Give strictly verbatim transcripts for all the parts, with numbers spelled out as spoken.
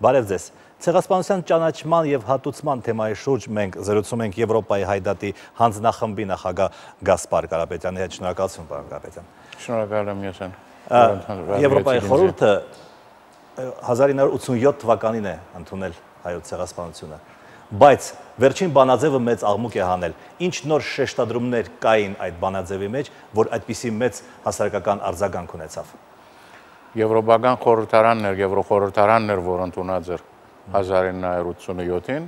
Բարև ձեզ։ Ցեղասպանության ճանաչման եւ հատուցման թեմայի շուրջ մենք զրուցում ենք Եվրոպայի հայդատի հանձնախմբի նախագահ Գասպար Կարապետյանի հետ։ Շնորհակալություն, պարոն Կարապետյան։ Շնորհակալ եմ ես։ Եվրոպայի խորհուրդը հազար ինը հարյուր ութսունյոթ թվականին է ընդունել հայոց ցեղասպանությունը, բայց վերջին բանաձևը մեծ աղմուկ է հանել։ Ինչ նոր շեշտադրումներ կային այդ բանաձևի մեջ, որ այդպիսի մեծ հասարակական արձագանք ունեցավ։ Եվրոպական խորհրդարանն էր, Եվրոխորհրդարանն էր, որ ընդունած էր հազար ինը հարյուր ութսունյոթին,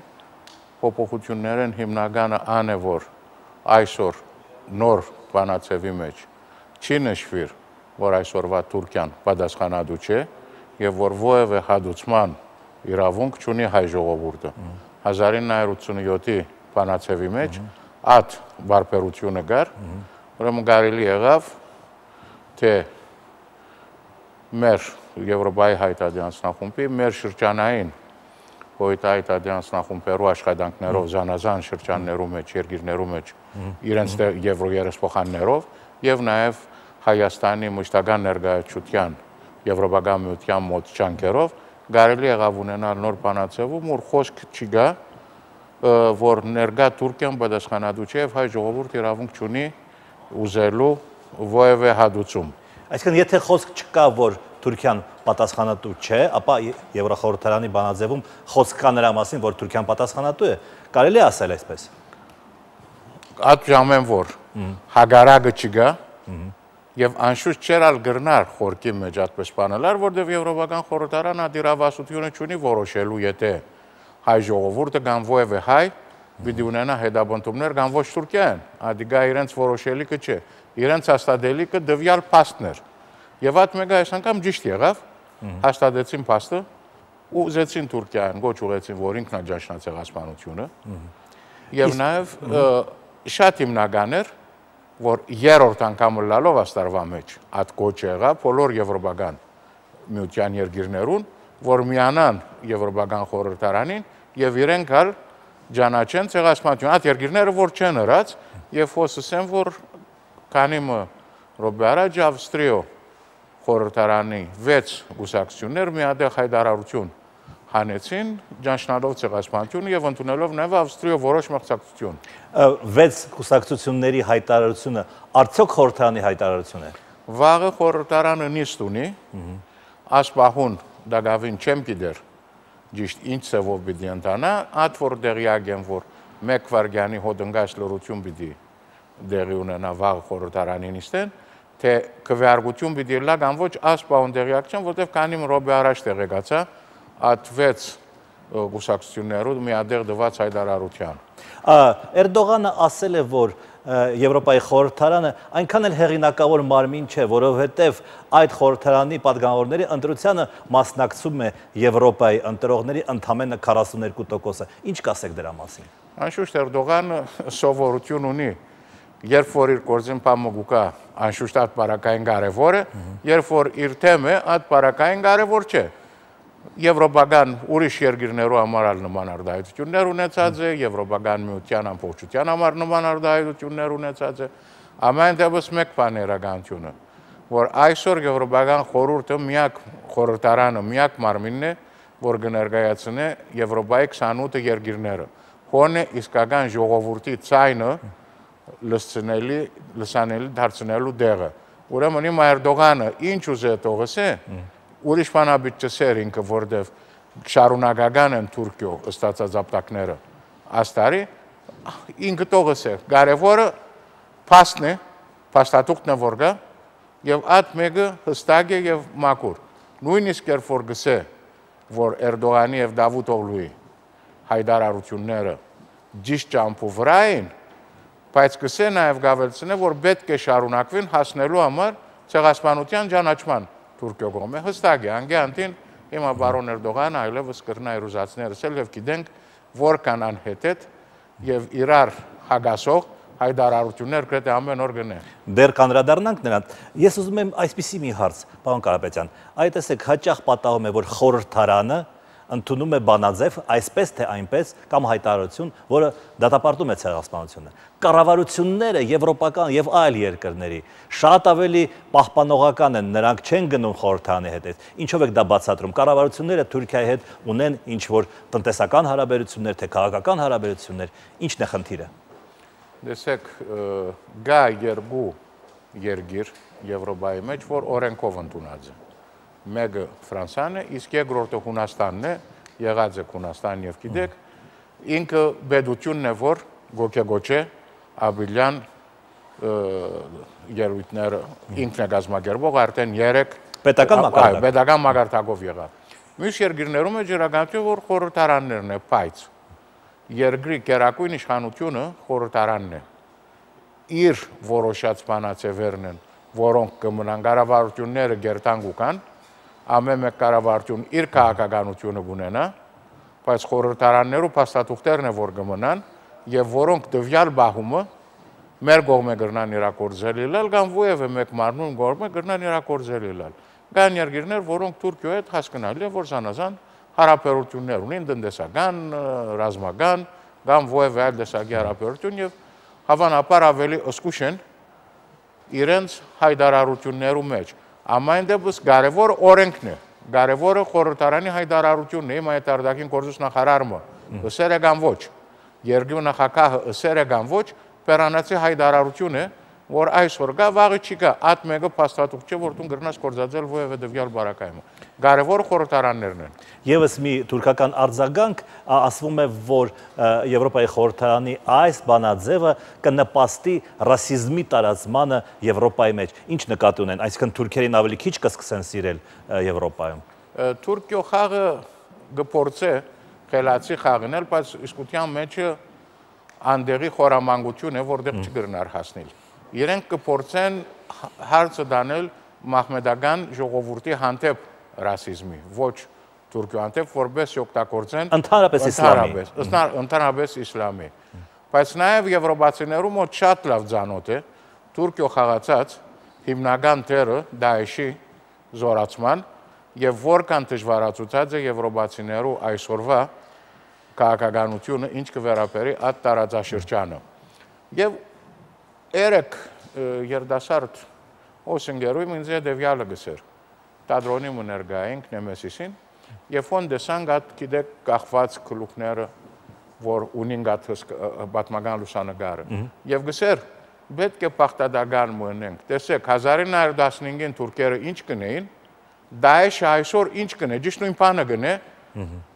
փոփոխություններն հիմնականը ան է, որ այսօր նոր բանաձևի մեջ չի նշվիր, որ այսօրվա Թուրքիան պատասխանատու չէ եւ որ որևէ հադուցման իրավունք չունի հայ ժողովուրդը։ հազար ինը հարյուր ութսունյոթի բանաձևի մեջ այդ բարբերությունը կար, ուրեմն կարելի եղավ թե մեր Եվրոպայի հայդատի հանձնախումբի, մեր շրջանային հայդատի հանձնախումբերու աշխատանքներով, զանազան շրջաններու մեջ, երկիրներու մեջ, իրենց եվրոերեսփոխաններով եւ նաեւ Հայաստանի մշտական ներկայացության Եվրոպական միության մոտ ջանքերով կարելի եղավ ունենալ նոր բանաձևում, որ խոսք չի գա, որ ներկա Թուրքիան պատասխանատու չէ եւ հայ ժողովուրդը իրավունք չունի ուզելու որևէ հադուցում։ Այսինքն, եթե խոսք չկա, որ Թուրքիան պատասխանատու չէ, ապա Եվրոխորհրդարանի բանաձևում խոսք կա նրա մասին, որ Թուրքիան պատասխանատու է, կարելի է ասել այսպես։ Այդ ժամեն որ հագարակը չկա եւ անշուշտ չէր ալ գրնար խորքի մեջ այդպես բանալար, որտեղ Եվրոպական խորհրդարանը դիրավասությունը չունի որոշելու, եթե հայ ժողովուրդը կամ որևէ հայ պիտի ունենա հետապնդումներ կամ ոչ Թուրքիան, ադիգա իրենց որոշելիքը չէ, իրենց հաստատելիքը դվյալ փաստն էր։ Եվ այդ մեկը այս անգամ ճիշտ եղավ, հաստատեցին փաստը, ուզեցին Թուրքիան, գոչ ուղեցին, որ ինքն է ճաշնա ցեղասպանությունը, եւ նաեւ շատ հիմնական էր, որ երրորդ անգամ լալով աստարվա մեջ այդ գոչը եղավ բոլոր եվրոպական միության երկիրներուն, որ միանան Եվրոպական խորհրդարանին եւ իրենք հալ ճանաչեն ցեղասպանությունը։ Այդ երկիրները որ չեն հրած եւ խոսսեն, որ քանի մը ռոբե առաջ Ավստրիո խորհրդարանի վեց գուսակցություններ միատեղ հայտարարություն հանեցին, ճանաչելով ցեղասպանությունը եւ ընդունելով նաեւ Ավստրիո որոշ մղձակցություն։ Վեց գուսակցությունների հայտարարությունը արդյոք խորհրդարանի հայտարարություն է։ Վաղը խորհրդարանը նիստ ունի, ասպահուն դակավին չեմ գիտեր ճիշտ ինչ ծավով պիտի ընթանա, այդ որ դեղյակ են, որ մեկ վարգյանի հոդընկած լրություն պիտի դեղի ունենա վաղ խորհրդարանի նիստեն, թե քվեարկություն պիտի լա կամ ոչ ասպահուն դեղյակ չեն, որտեղ քանի ռոբե առաջ տեղեկացա այդ վեց գուսակցություններով միադեղ դված հայտարարության։ Էրդողանը ասել է, որ Եվրոպայի խորհրդարանը այնքան էլ հեղինակավոր մարմին չէ, որովհետև այդ խորհրդարանի պատգամավորների ընտրությանը մասնակցում է Եվրոպայի ընտրողների ընդամենը քառասուններկու տոկոսը։ Ինչ կասեք դրա մասին։ Անշուշտ Էրդողանը սովորություն ունի, երբ որ իր գործին պամոգուկա անշուշտ այդ բարակային կարևոր է, երբ որ իր թեմը այդ բարակային կարևոր չէ։ Եվրոպական ուրիշ երկիրներու համար ալ նման արդահայտություններ ունեցած է, Եվրոպական միության ամբողջության համար նման արդահայտություններ ունեցած է, ամեն դեպս մեկ բան է իրականությունը, որ այսօր Եվրոպական խորհուրդը միակ խորհրդարանը միակ մարմինն է, որ կներկայացնի Եվրոպայի քսանութ երկիրները, հոնե իսկական ժողովրդի ցայնը լսցնելի լսանելի դարձնելու դեղը։ Ուրեմն իմ Էրդողանը ինչ ուզե թողս է, ուրիշ բանաբիջ չսեր ինքը, որտև շարունակական են Թուրքիո ստացած ապտակները աստարի, ինքը տողս է, կարևորը փաստն է, փաստաթուղթն է որ գա, եւ այդ մեկը հստակ է եւ մաքուր։ Նույնիսկ երբ որ գսե, որ Էրդողանի եւ Դավութօղլուի հայտարարությունները ճիշտ ճամփու վրա են, բայց գսե նաեւ գավելցնե, որ պետք է շարունակվին հասնելու համար ցեղասպանության ճանաչման Թուրքիո կողմը հստակ է, անգյանտին հիմա բարոն Էրդողանը այլևս կրնա իրուզացնել եւ գիտենք որքան անհետետ եւ իրար հագասող հայտարարություններ գրեթե ամեն օր գնե։ Դեռ կանրադառնանք նրան։ Ես ուզում եմ այսպիսի մի հարց, պարոն Կարապետյան, այ տեսեք, հաճախ պատահում է, որ խորհրդարանը ընդունում է բանաձև, այսպես թե այնպես, կամ հայտարարություն, որը դատապարտում է ցեղասպանությունը։ Կառավարությունները եվրոպական եւ այլ երկրների շատ ավելի պահպանողական են, նրանք չեն գնում խորհրդարանի հետ։ Ինչով եք դա բացատրում։ Կառավարությունները Թուրքիայի հետ ունեն ինչ-որ տնտեսական հարաբերություններ, թե քաղաքական հարաբերություններ, ի՞նչն է խնդիրը։ Տեսեք, գա երկու երկիր Եվրոպայի մեջ, որ օրենքով ընդունած է։ Մեկը Ֆրանսիան է, իսկ երկրորդը Հունաստանն է, եղած է Հունաստան եւ գիտեք, ինքը պետությունն է, որ գոքեգոչե Աբիլյան երույթները ինքն է գազմագերբող արդեն երեք պետական մակարդակ պետական մակարդակով եղավ։ Մյուս երկրներում է ջրագանություն, որ խորհրդարաններն է, բայց երկրի կերակույն իշխանությունը խորհրդարանն է։ Իր որոշած բանացևերն են, որոնք կմնան կառավարությունները գերտանգ ու կան, ամեն մեկ կառավարություն իր քաղաքականությունը կունենա, բայց խորհրդարաններու փաստաթուղթերն է, որ կմնան, եւ որոնք տվյալ բահումը մեր կողմը կրնան իրագործել իլալ, կամ ովևէ մեկ մարմնում կողմը կրնան իրագործել իլալ։ Կան երկիրներ, որոնք Թուրքիայի հետ հասկանալի է, որ զանազան հարաբերություններ ունեն, տնտեսական, ռազմական, կամ ովևէ այլ տեսակի հարաբերություն եւ հավանաբար ավելի ըսկուշ են իրենց հայտարարություններու մեջ։ Ամեն դեպս կարևոր օրենքն է, կարևորը խորհրդարանի հայտարարությունն է, իմ հայտարարակին գործուց նախարարը ըսեր է կամ ոչ, երկրի նախագահը ըսեր է կամ ոչ, պերանացի հայտարարություն է, որ այսօր կա, վաղը չի կա, այդ մեկը փաստաթուղթ չէ, որ դու գրնաս կործածել ովևէ դվյալ բարակայումը։ Կարևորը խորհրդարաններն են։ Եվս մի թուրքական արձագանք, ասվում է, որ Եվրոպայի խորհրդարանի այս բանաձևը կնպաստի ռասիզմի տարածմանը Եվրոպայի մեջ։ Ինչ նկատի ունեն, այսինքն թուրքերին ավելի քիչ կսկսեն սիրել Եվրոպայում։ Թուրքիո խաղը կփորձե խելացի խաղնել, բայց իսկության մեջը անդեղի խորամանկություն է, որտեղ չգրնար հասնել։ Իրենք կփորձեն հարցը դանել մահմեդական ժողովրդի հանդեպ ռասիզմի, ոչ Թուրքիո հանդեպ, որպես օգտագործեն ընդհանրապես իսլամի։ Ընդհանրապես իսլամի։ Բայց նաև եվրոպացիներու մոտ շատ լավ ծանոթ է Թուրքիո խաղացած հիմնական թերը Դաեշի զորացման եւ որքան դժվարացուցած է եվրոպացիներու այսօրվա քաղաքականությունը, ինչ կվերապերի այդ տարածաշրջանը։ Եվ երեք երդասարդ օսինգերույմ ինձ է դևյալը գսեր, տադրոնի մներգայինք նեմեսիսին, և ոն դեսանք այդ գիտեք կախված կլուկները, որ ունին գատ բատմական լուսանագարը, և գսեր, պետք է պաղտադական մնենք, տեսեք, հազար ինը հարյուր տասնհինգին թուրքերը ինչ կնեին, Դաեշը այսօր ինչ կնե, ճիշտ նույն բանը կնե,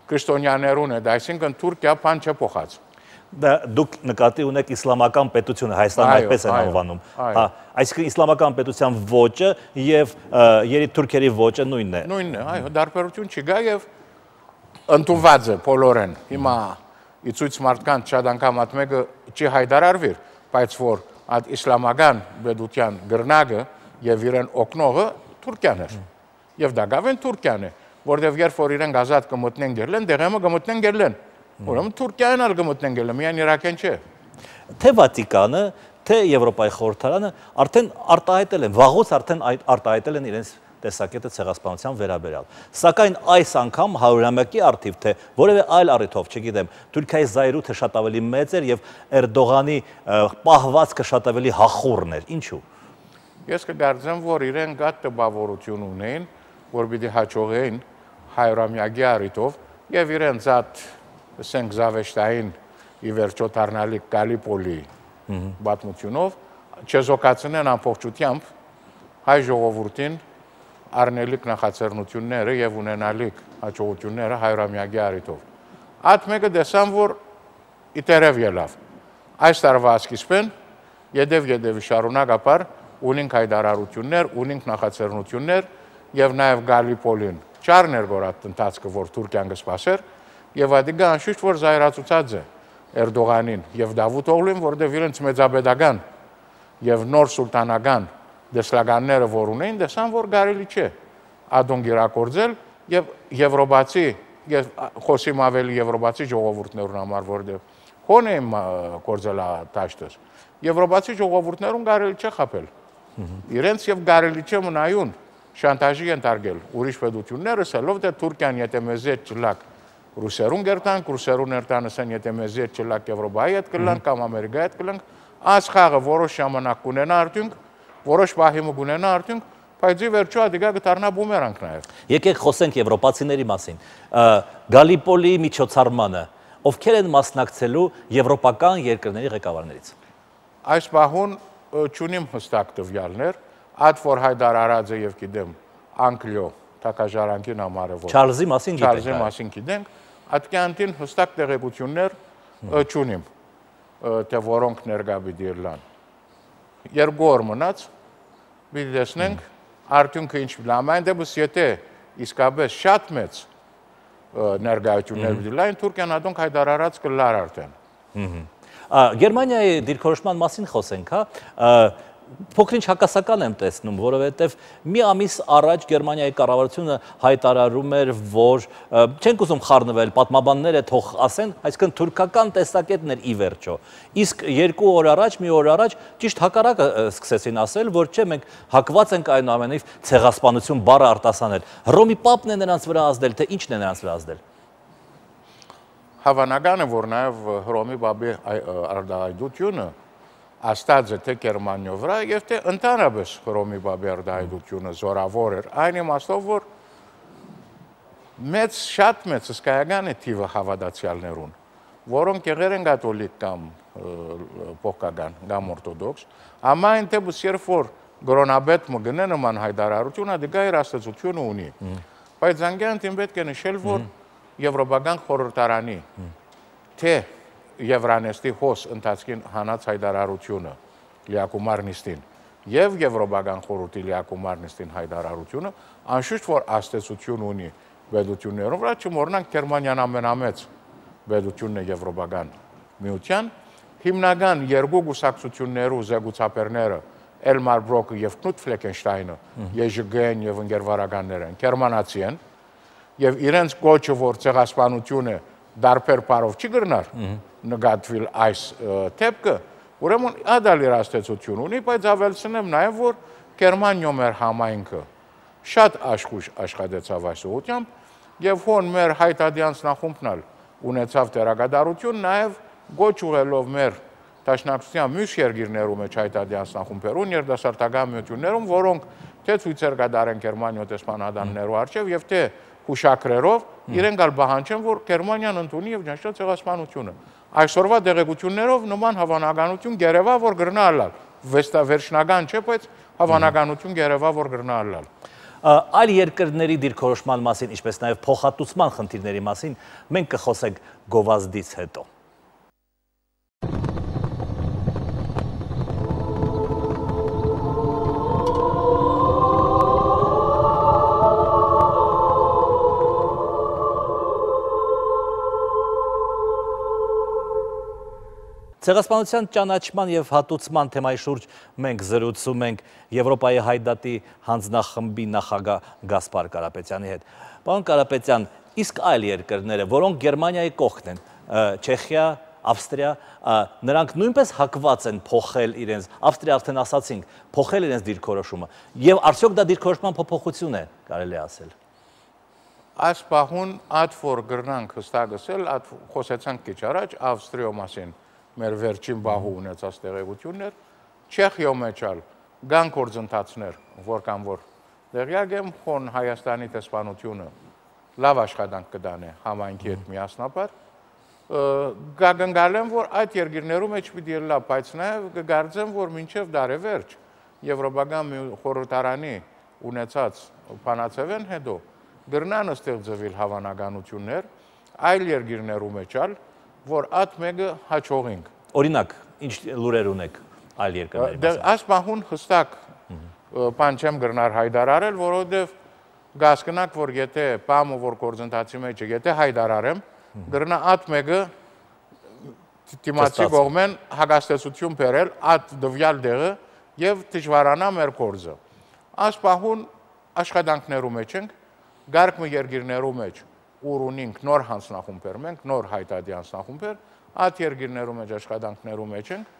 քրիստոնյաներուն է, այսինքն Թուրքիա բան չէ փոխած։ Դուք նկատի ունեք իսլամական պետությունը, Հայաստանը այդպես են անվանում։ Այսինքն իսլամական պետության ոճը եւ երիտթուրքերի ոճը նույնն է։ Նույնն է, այո, դարբերություն չկա եւ ընդունված է բոլորեն։ Հիմա ի ցույց մարդկանց շատ անգամ այդ մեկը չի հայտարարվիր, բայց որ այդ իսլամական պետության գրնագը եւ իրեն օգնողը Թուրքիան է։ Եվ դա գավեն Թուրքիան է, որտեղ երբ որ իրենք ազատ կմտնեն գերլեն, դեղեմը կմտնեն գերլեն։ Ուրեմն Թուրքիան ալ կմտնեն գերլեն, միայն Իրաքեն չէ։ Թե Վատիկանը, թե Եվրոպայի խորհրդարանը արդեն արտահայտել են, վաղուց արդեն արտահայտել են իրենց տեսակետը ցեղասպանության վերաբերյալ։ Սակայն այս անգամ հարյուրամյակի առթիվ, թե որևէ այլ առիթով, չգիտեմ, Թուրքիայի զայրույթը շատ ավելի մեծ էր եւ Էրդողանի պահվածքը շատ ավելի հախուռն էր։ Ինչու։ Ես կգարձեմ, որ իրենք այդ տպավորություն ունեն, որ պիտի հաջողեին հարյուրամյակի առիթով եւ իրենց այդ ասենք զավեշտային ի վերջո դառնալիք Գալիպոլի պատմությունով չեզոքացնեն ամբողջությամբ հայ ժողովրդին առնելիք նախաձեռնությունները եւ ունենալիք հաջողությունները հարյուրամյակի առիթով։ Այդ մեկը դեսան, որ իտերև ելավ։ Այս տարվա սկիզբին յետև-յետևի շարունակապար ունենք հայտարարություններ, ունենք նախաձեռնություններ եւ նաեւ Գալիպոլին չարներ գորատ ընթացքը, որ Թուրքիան կսպասեր եւ այդ անշուշտ որ զայրացուցած է Էրդողանին եւ Դավութ Օղլուին, որտեղ իրենց մեծապետական եւ նոր սուլտանական դեսլագանները որ ունեն, դեսան որ կարելի չէ ադոնք իրագործել եւ եվրոպացի եւ խոսիմ ավելի եվրոպացի ժողովուրդներուն համար, որտեղ հոն է գործել դաշտը։ Եվրոպացի ժողովուրդներուն կարելի չէ խապել։ Իրենց եւ կարելի չէ մնայուն շանտաժի ենթարկել ուրիշ պետությունները, ասելով թե Թուրքիան եթե մեզ հետ չլակ ռուսերուն գերտանք, ռուսերուն երտանսեն եթե մեզի հետ չլակ Եվրոպայի հետ կլանք կամ Ամերիկայի հետ կլանք, այս խաղը որոշ ժամանակ կունենա արդյունք, որոշ պահի կունենա արդյունք, բայց ի վերջո ադիգա կդառնա բումերանք նաև։ Եկեք խոսենք եվրոպացիների մասին։ Գալիպոլի միջոցառմանը ովքեր են մասնակցելու եվրոպական երկրների ղեկավարներից։ Այս պահուն չունիմ հստակ տվյալներ, այդ որ Հայդար Արաձը եւ գիտեմ Անկլյո Թակաժարանքին համարեվոր Չարլզի մասին գիտենք։ Չարլզի մասին գիտենք, այդքանտին հստակ տեղեկություններ չունիմ, թե որոնք ներկա պիտի լան։ Երկու օր մնաց, պիտի տեսնենք արդյունքը ինչ լամայն դեպս եթե իսկապես շատ մեծ ներկայություններ պիտի լայն Թուրքիան ադոնք Հայդար Արաձ կլար արդեն։ Գերմանիայի դիրքորոշման մասին խոսենք, հա, փոքրինչ հակասական եմ տեսնում, որովհետև մի ամիս առաջ Գերմանիայի կառավարությունը հայտարարում էր, որ չենք ուզում խառնվել, պատմաբանները թող ասեն, այսինքն թուրքական տեսակետն էր ի վերջո։ Իսկ երկու օր առաջ, մի օր առաջ ճիշտ հակառակը սկսեցին ասել, որ չէ, մենք հակված ենք այնուամենայնիվ ցեղասպանություն բառը արտասանել։ Հռոմի պապն է նրանց վրա ազդել, թե ինչն է նրանց վրա ազդել։ Հավանական է, որ նաև Հռոմի պապի արտահայտությունը աստած է թե Գերմանիո վրա եւ թե ընդհանրապես Հռոմի պապի արտահայտությունը զորավոր էր, այն իմաստով, որ մեծ շատ մեծ հսկայական է թիվը հավատացյալներուն, որոնք եղել են կաթոլիկ կամ փոխկական կամ օրթոդոքս, ամայն դեպս երբ որ գրոնաբեդ մգնե նման հայտարարությունը դգա իր աստծությունը ունի, բայց անգանտին պետք է նշել, որ Եվրոպական խորհրդարանի թե Եվրանեստի հոս ընթացքին հանած հայտարարությունը լիակումար նիստին եւ Եվրոպական խորհրդի լիակումար նիստին հայտարարությունը անշուշտ որ աստեցություն ունի բեդություններով, վրա չմոռնանք Գերմանիան ամենամեծ բեդությունն է Եվրոպական միության, հիմնական երկու գուսակցություններու զեկուցապերները Էլմար Բրոկը եւ Կնուտ Ֆլեկենշտայնը, Եժ Գեն եւ ընկերվարականները գերմանացի են եւ իրենց կոչը որ ցեղասպանություն է դարբեր բարով չի գրնար նկատվել այս թեփքը, ուրեմն ադալ իր աստեցություն ունի, բայց ավելցնեմ նաև, որ Գերմանիո մեր համայնքը շատ աշխույժ աշխատեցավ այս ուղղությամբ եւ հոն մեր հայտադյանց նախումբնալ ունեցավ դերակատարություն, նաև գոչ ուղելով մեր դաշնակցության մյուս երկիրներում մեջ հայտադյանց նախումբերուն, երիտասարդական միություններում, որոնք թե ցույցեր կդարեն Գերմանիո դեսպանատաններու առջև եւ թե հուշակրերով իրենք ալ բահանջեն, որ Գերմանիան ընդունի եւ ճաշտա ցեղասպանությունը։ Այսօրվա դեղեցություններով նման հավանականություն գերեվա, որ գրնա ալալ։ Վեստա վերջնական չէ, բայց հավանականություն գերեվա, որ գրնա ալալ։ Այլ երկրների դիրքորոշման մասին, ինչպես նաև փոխհատուցման խնդիրների մասին, մենք կխոսենք գովազդից հետո։ Ցեղասպանության ճանաչման եւ հատուցման թեմայի շուրջ մենք զրուցում ենք Եվրոպայի հայդատի հանձնախմբի նախագահ Գասպար Կարապետյանի հետ։ Պարոն Կարապետյան, իսկ այլ երկրները, որոնք Գերմանիայի կողքն են, Չեխիա, Ավստրիա, նրանք նույնպես հակված են փոխել իրենց, Ավստրիա արդեն ասացինք, փոխել իրենց դիրքորոշումը, եւ արդյոք դա դիրքորոշման փոփոխություն է, կարելի ասել։ Այս պահուն այդ որ գրնանք հստակ ասել, այդ խոսեցանք քիչ առաջ Ավստրիո մասին մեր վերջին բահու ունեցած տեղեկություններ, Չեխիո մեջ ալ կան գործընթացներ, որ կամ որ դեղյակ եմ, խոն Հայաստանի դեսպանությունը լավ աշխատանք կդանե համայնքի հետ միասնաբար, կգնգալեմ, որ այդ երկիրներում մեջ պիտի լավ, բայց նաև կգարձեմ, որ մինչև դարեվերջ Եվրոպական խորհրդարանի ունեցած բանացևեն հետո գրնան ստեղծվել հավանականություններ այլ երկիրներում մեջ ալ, որ այդ մեկը հաջողենք։ Օրինակ, ինչ լուրեր ունեք այլ երկրների մասին։ Այս պահուն հստակ բան չեմ գրնար հայտարարել, որովհետև գասկնակ, որ եթե բամը որ գործընթացի մեջ է, եթե հայտարարեմ, գրնա այդ մեկը դիմացի կողմեն հագաստեցություն բերել այդ դվյալ դեղը եւ դժվարանա մեր գործը։ Այս պահուն աշխատանքներու մեջ ենք, գարկմը երկիրներու մեջ ուր ունենք նոր հանձնախումբեր, մենք նոր հայտարարի հանձնախումբեր, այդ երկիրներու մեջ աշխատանքներու մեջ ենք,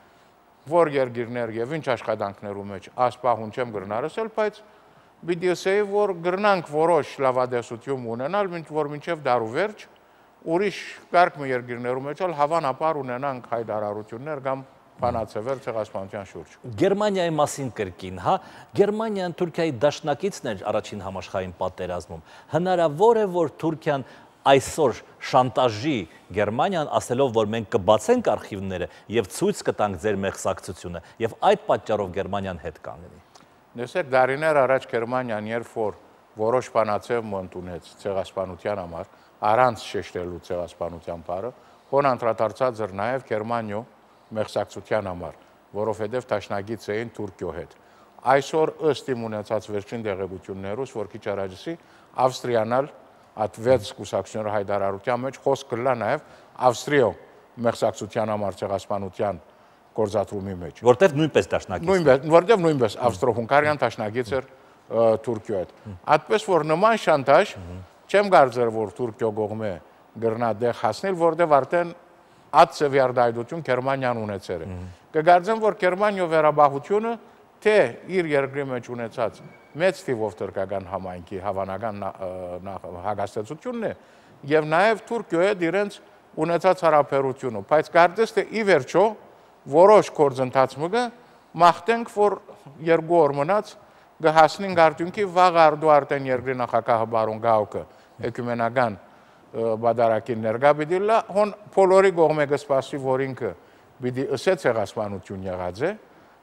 որ երկիրներ եւ ինչ աշխատանքներու մեջ ասպահուն չեմ գրնարսել, բայց պիտի ասեի, որ գրնանք որոշ լավադեսություն ունենալ, որ մինչև դարու վերջ ուրիշ կարգ մի երկիրներում մեջ էլ հավանաբար ունենանք հայտարարություններ կամ բանացևեր ցեղասպանության շուրջ։ Գերմանիայի մասին կրկին, հա, Գերմանիան Թուրքիայի դաշնակիցն էր առաջին համաշխարհային պատերազմում։ Հնարավոր է, որ Թուրքիան այսօր շանտաժի Գերմանիան, ասելով, որ մենք կբացենք արխիվները եւ ցույց կտանք ձեր մեղսակցությունը, եւ այդ պատճառով Գերմանիան հետ կանգնի։ Տեսեք, դարիներ առաջ Գերմանիան, երբ որ որոշ բանացև ընդունեց ցեղասպանության համար, առանց շեշտելու ցեղասպանության բառը, հոն անդրադարձած էր նաեւ Գերմանիո մեղսակցության համար, որովհետև տաշնագից էին Թուրքիո հետ։ Այսօր ըստ իմ ունեցած վերջին տեղեկություններուց, որ քիչ առաջի Ավստրիանալ այդ վեց կուսակցությունների հայտարարության մեջ խոսք կլա նաև Ավստրիո մեղսակցության համար ցեղասպանության գործադրումի մեջ։ Որտեվ նույնպես տաշնագից։ Նույնպես, որտեվ նույնպես ավստրո-հունգարիան տաշնագից էր Թուրքիո հետ։ Այդպես որ նման շանտաժ չեմ կարծեր, որ Թուրքիո կողմը գրնա դեղ հասնել, որտեվ արդեն այդ սևյարդայդություն Գերմանիան ունեցել է։ Կգարձեմ, որ Գերմանիո վերաբախությունը թե իր երկրի մեջ ունեցած մեծ թիվով թուրքական համայնքի հավանական հագաստեցությունն է եւ նաեւ Թուրքիո հետ իրենց ունեցած հարաբերությունը, բայց կարծես թե ի վերջո որոշ գործընթացը մաղթենք, որ երկու օր մնաց կհասնենք արդյունքի վաղ արդու արդեն երկրի նախագահը բարոն Գաուկը էկումենական բادرակին ներկա պիտի լա, հոն բոլորի կողմը կսպասի, որ ինքը պիտի ըսե ցեղասպանություն եղած է,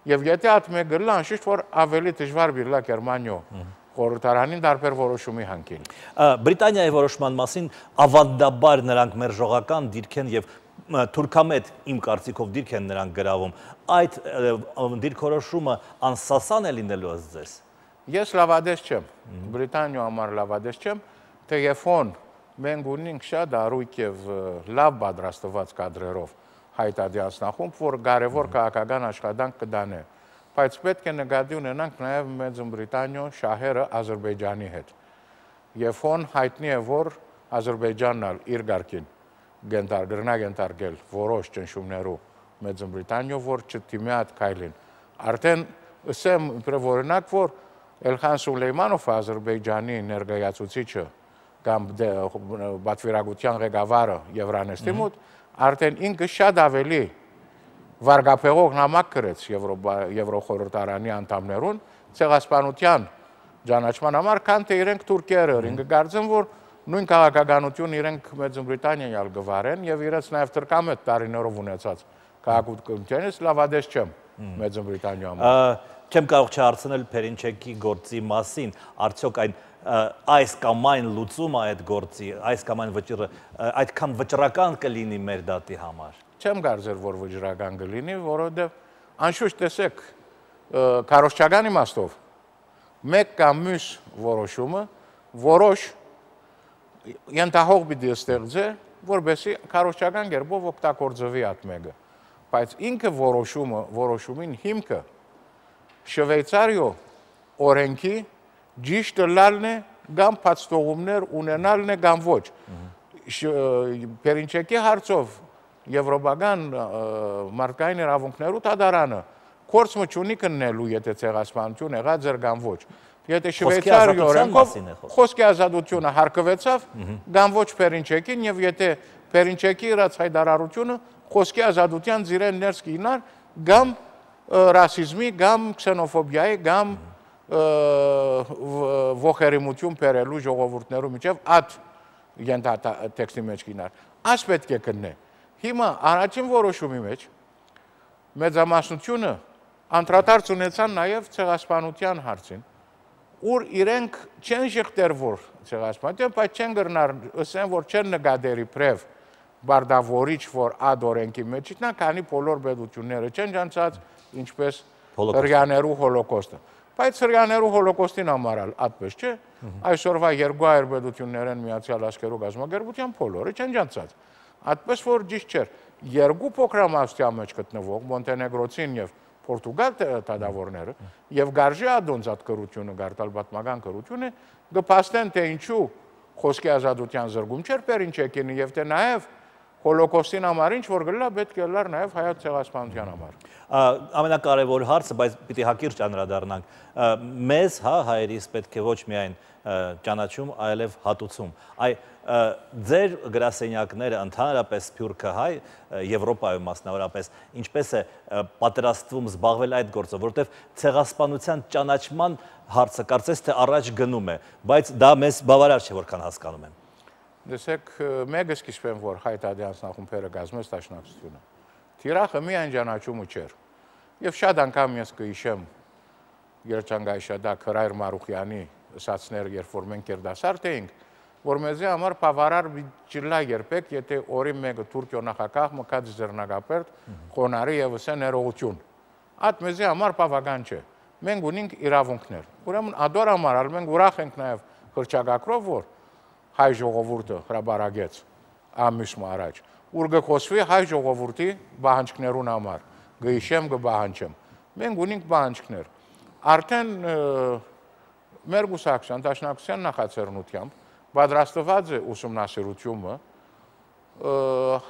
եւ եթե այդ մեկը լա, անշուշտ որ ավելի դժվար բիլա Գերմանիո խորհրդարանին դարբեր որոշումի հանքին։ Բրիտանիայի որոշման մասին ավանդաբար նրանք մերժողական դիրք են եւ թուրքամետ իմ կարծիքով դիրք են նրանք գրավում։ Այդ դիրքորոշումը անսասան է լինելու ըստ ձեզ։ Ես լավադես չեմ, Բրիտանիո համար լավադես չեմ, թեև մենք ունենք շատ առույգ եւ լավ պատրաստված կադրերով հայտարարածնախումբ, որ կարևոր քաղաքական աշխատանք կդանե, բայց պետք է նկատի ունենանք նաեւ Մեծ Բրիտանիո շահերը Ադրբեջանի հետ։ Եվ հոն հայտնի է, որ Ադրբեջանն ալ իր ղարքին գենտար գրնա գենտարգել որոշ ճնշումներով Մեծ Բրիտանիո, որ չդիմի այդ քայլին։ Արդեն ասեմ օրինակ, որ Էլխան Սուլեյմանովը Ադրբեջանի ներկայացուցիչը կամ բացվիրագության ղեկավարը Եվրանեստի մոտ արդեն ինքը շատ ավելի վարգապեղող նամակ գրեց Եվրոխորհրդարանի անդամներուն ցեղասպանության ճանաչման համար, քան թե իրենք թուրքերը։ Ինքը կարծեմ, որ նույն քաղաքականություն իրենք Մեծ Բրիտանիայի ալ գվարեն եւ իրենց նաեւ տրկամետ տարիներով ունեցած քաղաքությունից լավադես չեմ Մեծ Բրիտանիա համար։ Չեմ կարող չհարցնել Փերինչեկի գործի մասին, արդյոք այն այս կամ այն լուծումը այդ գործի, այս կամ այն վճիռը այդքան վճռական կլինի մեր դատի համար։ Չեմ կարծեր, որ վճռական կլինի, որովհետև անշուշտ տեսեք, քարոզչական իմաստով մեկ կամ մյուս որոշումը որոշ ենթահող պիտի ստեղծե, որովհետեւ քարոզչական կերպով օգտագործվի այդ մեկը, բայց ինքը որոշումը, որոշումին հիմքը Շվեյցարիո օրենքի ճիշտ լալն է կամ փաստողումներ ունենալն է կամ ոչ։ Փերինչեկի հարցով եվրոպական մարդկային իրավունքներու դատարանը կորցումը չունի կննելու, եթե ցեղասպանություն եղած էր կամ ոչ։ Եթե Շվեյցարիո օրենքով խոսքի ազատությունը հարկվեցավ կամ ոչ Փերինչեկին, եւ եթե Փերինչեկի իրաց հայտարարությունը խոսքի ազատության ծիրեն ներս կինար կամ ռասիզմի կամ քսենոֆոբիայի կամ ողերիմություն բերելու ժողովուրդներու միջև այդ ենթատեքստի մեջ կինար։ Այս պետք է կննե։ Հիմա առաջին որոշումի մեջ մեծամասնությունը անդրադարձ ունեցան նաև ցեղասպանության հարցին, ուր իրենք չեն շղթեր, որ ցեղասպանություն, բայց չեն գրնար, ասեն, որ չեն նկատերի պրև բարդավորիչ, որ այդ օրենքի մեջ իտնա, քանի բոլոր պետությունները չեն ջանցած, ինչպես հրյաներու հոլոկոստը։ Բայց հրյաներու հոլոկոստին համարալ այդպես չէ, այսօրվա երկու հայեր պետություններ են Միացյալ Աշխարհի գազམ་ագերբության բոլորը չեն ջանցած։ Այդպես որ ճիշտ չէ, երկու փոքրամասնության մեջ գտնվող Մոնտենեգրոցին եւ Պորտուգալ դատավորները եւ Գարժի ադոնց այդ կրությունը, գարտալ պատմական կրությունը կփաստեն, թե ինչու խոսքի ազատության զրկում չէր Փերինչեկին եւ թե նաեւ հոլոկոստին համար ինչ որ գլա պետք է լար նաև հայոց ցեղասպանության համար։ Ամենակարևոր հարցը, բայց պիտի հակիրճ անդրադառնանք, մեզ, հա, հայերիս պետք է ոչ միայն ճանաչում, այլև հատուցում։ Այ ձեր գրասենյակները ընդհանրապես Սփյուռքը հայ Եվրոպայում մասնավորապես ինչպես է պատրաստվում զբաղվել այդ գործով, որովհետև ցեղասպանության ճանաչման հարցը կարծես թե առաջ գնում է, բայց դա մեզ բավարար չէ, որքան հասկանում եմ։ Դեսեք, մեկը սկիզբեն որ հայ տադյանցնախումբերը գազմեց դաշնակցությունը։ Թիրախը միայն ճանաչումը չէր։ Եվ շատ անգամ ես կհիշեմ Երջանկայիշադակ Հրայր Մարուխյանի ասացներ, երբ որ մենք երդասարդ էինք, որ մեզի համար բավարար ջիլա երբեք, եթե օրի մեկը Թուրքիո նախագահ մկած ձեռնարկապերտ խոնարհի եւ ասեն ներողություն։ Այդ մեզի համար բավական չէ։ Մենք ունենք իրավունքներ։ Ուրեմն ադոր համար մենք ուրախ ենք նաեւ հրճակագրով, որ հայ ժողովուրդը հրաբարագեց ամիսը առաջ, ուր գխոսվի հայ ժողովրդի բանջկներուն համար, գհիշեմ գբահանջեմ։ Մենք ունենք բանջկներ։ Արդեն մեր գուսակցության դաշնակցության նախաձեռնությամբ պատրաստված է ուսումնասիրությունը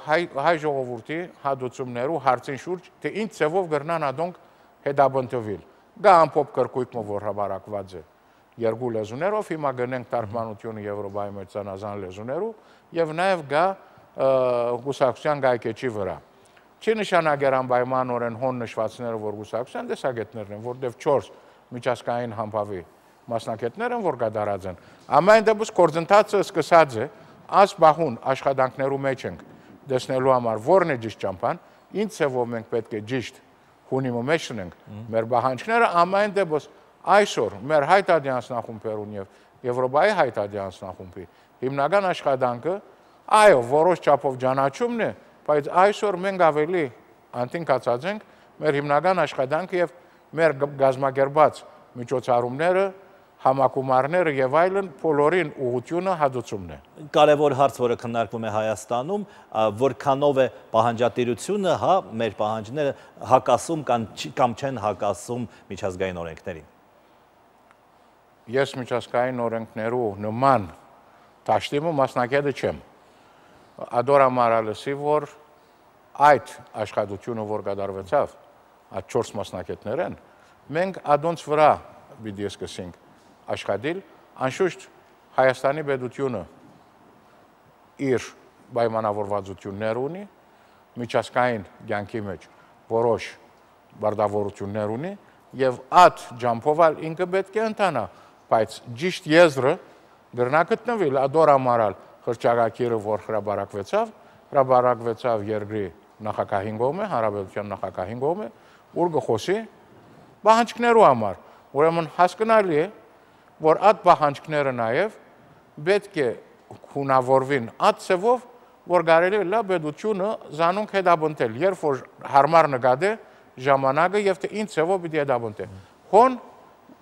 հայ հայ ժողովրդի հադուցումներու հարցին շուրջ, թե ինչ ձևով կրնան ադոնք հետաբնտվել։ Գա ամփոփ կրկույկը որ հրաբարակված է երկու լեզուներով, հիմա գնենք թարգմանությունը Եվրոպայի մեջ ցանազան լեզուներով եւ նաեւ գա գուսակցության գայքեչի վրա։ Չի նշանակեր անպայմանորեն հոն նշվածները, որ գուսակցության տեսակետներն են, որտեղ չորս միջազգային համբավի մասնակիցներ են, որ կդարած են։ Ամեն դեպս կորձընթացը սկսած է, այս բախուն աշխատանքներու մեջ ենք դեսնելու համար որն է ճիշտ ճամփան, ինչ ձևով մենք պետք է ճիշտ հունիմը մեջ ունենք մեր բանջկները, ամեն դեպս այսօր մեր հայտարարություններուն եւ Եվրոպայի հայտարարությունների հիմնական աշխատանքը այո, որոշ չափով ճանաչումն է, բայց այսօր մենք ավելի անտինկացած ենք մեր հիմնական աշխատանքը եւ մեր գազագերբած միջոցառումները, համակումարները եւ այլն բոլորին ուղղությունը հադուցումն է։ Կարևոր հարց, որը քննարկվում է Հայաստանում, որքանով է պահանջատիրությունը, հա, մեր պահանջները հակասում կամ չեն հակասում միջազգային օրենքներին։ Ես միջազգային օրենքներու նման դաշտիմը մասնակետը չեմ։ Ադորա մարալսի, որ այդ աշխատությունը, որ կատարվեցավ, այդ չորս մասնակետներ են, մենք ադոնց վրա պիտի սկսենք աշխատել, անշուշտ Հայաստանի պետությունը իր պայմանավորվածություններ ունի, միջազգային կյանքի մեջ որոշ բարդավորություններ ունի եւ այդ ջամփով ինքը պետք է ընթանա, բայց ճիշտ եզրը գրնա գտնվել ադոր ամարալ հրճակագիրը, որ հրաբարակվեցավ, հրաբարակվեցավ երկրի նախագահին կողմը, հանրապետության նախագահին կողմը, ուր գխոսի պահանջքներու համար։ Ուրեմն հասկանալի է, որ այդ պահանջքները նաև պետք է հունավորվին այդ ցևով, որ կարելի է լա պետությունը զանոնք հետաբնտել, երբ որ հարմար նկատե ժամանակը եւ թե ինչ ցևով պիտի հետաբնտե։ Հոն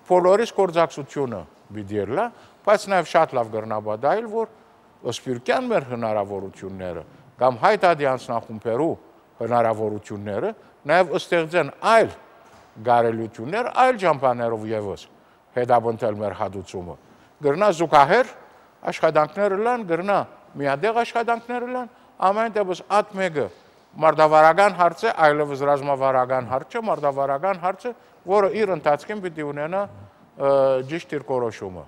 բոլորիս գործակցությունը պիտի լա, բայց նաև շատ լավ կրնաբադայել, որ սփյուռքյան մեր հնարավորությունները կամ հայտարարություններու հնարավորությունները նաև ստեղծեն այլ գարելություններ, այլ ճամփաներով եւս հետաբնտել մեր հադուցումը։ Գրնա զուգահեռ աշխատանքները լան, գրնա միադեղ աշխատանքները լան, ամեն դեպս այդ մեկը մարդավարական հարց է, այլևս ռազմավարական հարց է, մարդավարական հարց է, որը իր ընթացքին պիտի ունենա ճիշտ իր կորոշումը։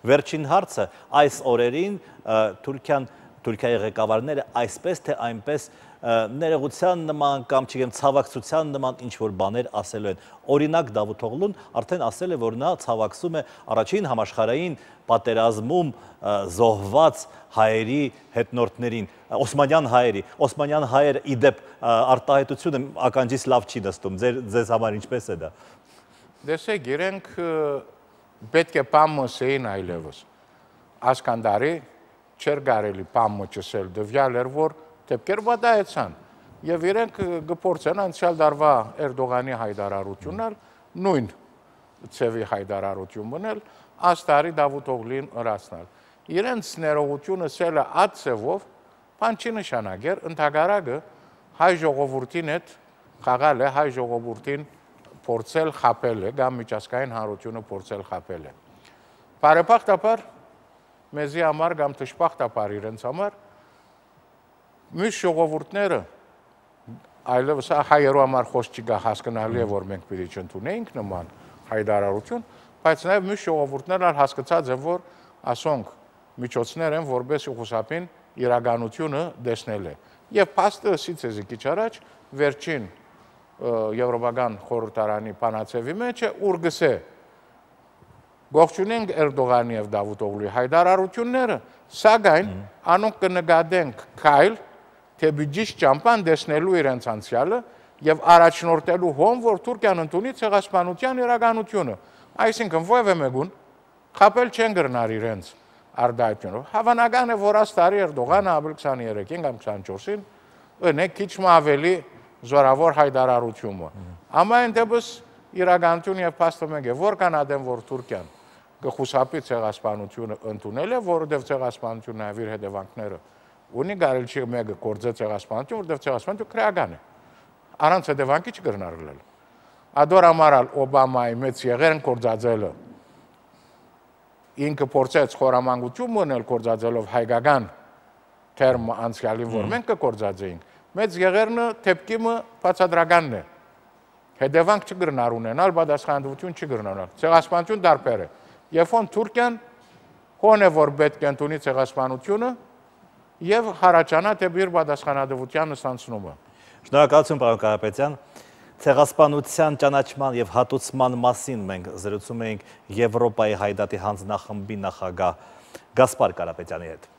Վերջին հարցը, այս օրերին Թուրքիան, Թուրքիայի ղեկավարները այսպես թե այնպես ներողության նման կամ չգիտեմ ցավակցության նման ինչ որ բաներ ասելու են։ Օրինակ Դավութ Օղլուն արդեն ասել է, որ նա ցավակցում է առաջին համաշխարհային պատերազմում զոհված հայերի հետնորդներին, օսմանյան հայերի։ Օսմանյան հայերը իդեպ արտահայտությունը ականջից լավ չի նստում։ Ձեր ձեզ համար ինչպես է դա։ Դեսեք, իրենք պետք է պամը սեին այլևս։ Ասկանդարի չեր կարելի պամը չսել, դվյալ էր, որ դեպքեր վատայեցան, եւ իրենք գփորձեն անցյալ դարվա Էրդողանի հայտարարությունն նույն ցևի հայտարարություն մնել, աստարի Դավութ Օղլին ըրացնել։ Իրենց ներողությունը սելը այդ ցևով բան չի նշանակեր, ընդհակառակը հայ ժողովրդին հետ խաղալ է, հայ ժողովրդին փորձել խապել է, կամ միջազգային հանրությունը փորձել խապել է։ Բարեբախտաբար մեզի համար կամ թշպախտաբար իրենց համար մյուս ժողովուրդները այլևս հայերու համար խոսք չկա, հասկանալի է, որ մենք պիտի չընդունեինք նման հայտարարություն, բայց նաև մյուս ժողովուրդներն հասկացած են, որ ասոնք միջոցներ են, որպես խուսափին իրականությունը դեսնել է։ Եվ փաստը ասից է քիչ առաջ վերջին Եվրոպական խորհրդարանի բանացեվի մեջ է, ուր գսե Գողջունենք Էրդողանի եւ Դավութօղլուի հայտարարությունները, սակայն անոնք կնկատենք քայլ, թե բյուջեի ճամփան դեսնելու իրենց անցյալը եւ առաջնորդելու հոն, որ Թուրքիան ընդունի ցեղասպանության իրականությունը։ Այսինքն ովևէ մեկուն խապել չեն գրնար իրենց արդայությունով։ Հավանական է, որ աստարի Էրդողանը ապրիլ քսաներեքին կամ քսանչորսին ունի քիչ ավելի զորավոր հայտարարությունը։ Ամեն դեպս իրականություն եւ փաստը մեկ է, որքան ադեմ որ Թուրքիան կխուսափի ցեղասպանությունը ընդունել է, որովհետեւ ցեղասպանությունը նաեւ իր հետևանքները ունի, կարելի չի մեկը կործե ցեղասպանություն, որովհետեւ ցեղասպանությունը քրեական է։ Առանց հետևանքի չկրնարվել։ Ադոր ամարալ Օբամայի մեծ եղերն կործածելը ինքը փորձեց խորամանկություն մոնել կործածելով հայկական թերմ անցյալին, որ մենք կկործածեինք։ Մեծ եղերնը թեփկիմը բացադրականն է։ Հետևանք չգրնար ունենալ, պատասխանատվություն չգրնանալ։ Ցեղասպանություն դարբեր է։ Երբ որ Թուրքիան հոն է, որ պետք է ընդունի ցեղասպանությունը եւ հարաճանա դեպի իր պատասխանատվության ստանցումը։ Շնորհակալություն, պարոն Կարապետյան։ Ցեղասպանության ճանաչման եւ հատուցման մասին մենք զրուցում էինք Եվրոպայի հայդատի հանձնախմբի նախագահ Գասպար Կարապետյանի հետ։